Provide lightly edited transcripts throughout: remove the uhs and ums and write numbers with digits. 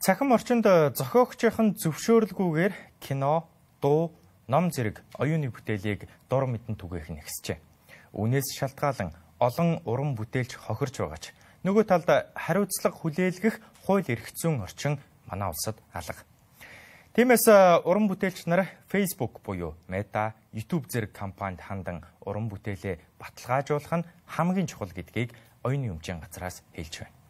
Цахим орчинд зохиогчийн зөвшөөрлгүйгээр кино, дуу, ном зэрэг оюуны бүтээлийг дур мэдэн түгээх нэгсжээ. Үүнээс шалтгаалan олон уран бүтээлч хохирч байгаач нөгөө талд хариуцлага хүлээлгэх хууль эрх зүйн орчин манай улсад алга. Тиймээс уран бүтээлч нар Facebook буюу Meta, YouTube зэрэг компанид хандан уран бүтээлээ баталгаажуулах нь хамгийн чухал гэдгийг оюуны өмчийн газраас хэлж байна.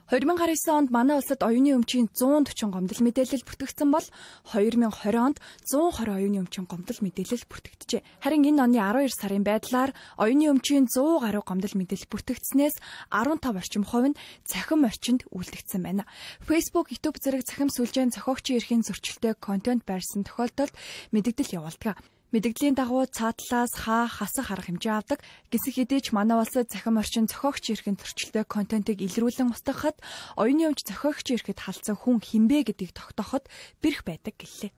2019 онд манай улсад оюуны өмчийн 140 гомдол мэдээлэл бүртгэгдсэн бол 2020 онд 120 оюуны өмчийн гомдол мэдээлэл бүртгэгджээ. Харин энэ оны 12 сарын байдлаар оюуны өмчийн 100 гаруй гомдол мэдээлэл бүртгэгдснээс 15 орчим хувь нь цахим орчинд үлдэгдсэн байна. Facebook, YouTube зэрэг цахим сүлжээний зохиогчийн эрхийн зөрчилтэй контент байрсан тохиолдолд мэдээлэл явуулдаг. Мэдээллийн дагуу цаатлаас хасах арга хэмжээ авдаг. Гисэх хэдий ч манай улсад цахим орчин зохиогчийн эрхийн зөрчилтэй контентыг илрүүлэн устгахад оюуны өмч зохиогчийн эрхэд халдсан хүн хинбэ гэдгийг тогтооход бэрх байдаг гэлээ.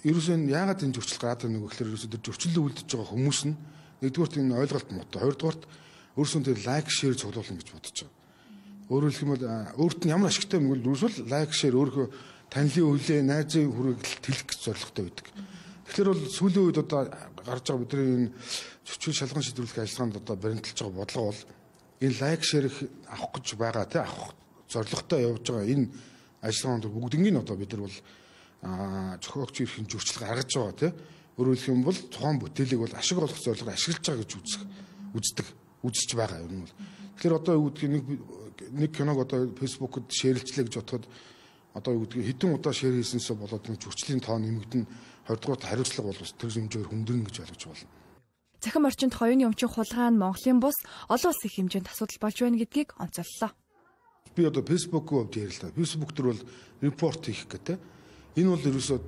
Ерөөсөө яагаад энэ зөрчил гараад байгаа нэг гэхээр ерөөсөө зөрчиллөө үлдэж байгаа хүмүүс нь нэгдүгээрт энэ ойлголт муутай, хоёрдугаарт өөрсөө тэр лайк, шеэр цуглуулна гэж бодож байгаа. Өөрөөр хэлбэл өөрт нь ямар ашигтай юм бол ерөөсөө лайк, шеэр өөрөө танилын өвлөө, найзын хүрээлт тэлэх гэж зорилготой байдаг. Тэгэхээр бол сүүлийн үед одоо гарч байгаа бидний энэ зөрчил шалган шийдвэрлэх ажиллагаанд одоо баримталж байгаа бодлого бол энэ лайк шеэр авах гэж байгаа тий авах зорилготой явж байгаа энэ ажиллагаанд бүгднийг одоо бид нар бол зохиогчийн эрхийн зөрчил гаргаж байгаа тий өөрөөр хэлэх юм бол тухайн бүтээлийг бол ашиг олох зорилгоор ашиглаж байгаа гэж үзэж байгаа юм бол тэгэхээр одоо юу гэдгийг нэг киног одоо фэйсбүүкэд шеэрлжлээ гэж бодоход одоо юу гэдгийг хэдэн удаа шеэр хийсэнсээ болоод энэ зөрчлийн тоо нэмэгдэн 20-р хариуцлага бол тэр хэмжээгээр хүндрэн гэж ойлгож байна. Цахим орчинд оюуны өмчийн хулгай нь Монголын бус олон улсын хэмжээнд асуудал болж байна гэдгийг онцоллоо. Би одоо Facebook-д ярилаа. Facebook дээр бол репорт хийх гэдэг. Энэ бол ерөөсөө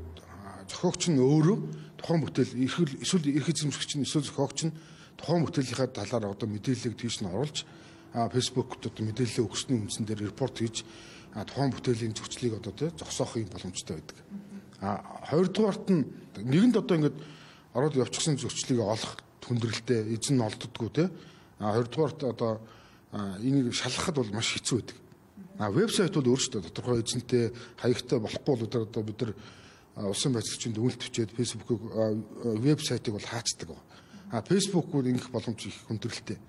зохиогч нь өөрөө тухайн бүтээл эсвэл эрх эзэмшигч нь эсвэл зохиогч нь тухайн бүтээлийнхаа талаар одоо мэдээллийг тийш нь оруулж Facebook-д одоо мэдээлэл өгсөний үндсэн дээр репорт хийж тухайн бүтээлийн зөрчлийг одоо зогсоохын боломжтой байдаг. Хоёрдугаарт нь нэгэнд одоо ингээд ороод явчихсан зөрчлийг олох хүндрэлтэй эзэн нь олддоггүй те. Хоёрдугаарт одоо энийг шалгахад бол маш хэцүү байдаг. Вебсайт бол өөрөөсөө тодорхой эзэнтэй хаягтай болохгүй бол одоо бид нар улсын байцаагчид үнэлт бичээд Facebook-ыг вебсайтыг бол хаацдаг. Facebook-ууд ингэх боломж их хүндрэлтэй.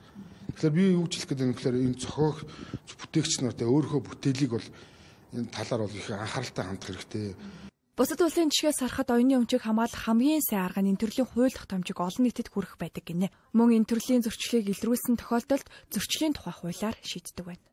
Тэгэхээр би юу гэж хэлэх гээд байна гэхээр энэ зохиог бүтээгч нартай өөрийнхөө бүтээлийг бол энэ талаар бол их анхааралтай хандах хэрэгтэй. Бусад улсын жишгээс харахад оюуны өмчийг хамгаалах хамгийн сайн арга нь энэ төрлийн хууль тогтоомжийг олон нийтэд хүргэх байдаг гинэ. Мөн энэ төрлийн зөрчлийг илрүүлсэн тохиолдолд зөрчлийн тухай хуулиар шийддэг байна.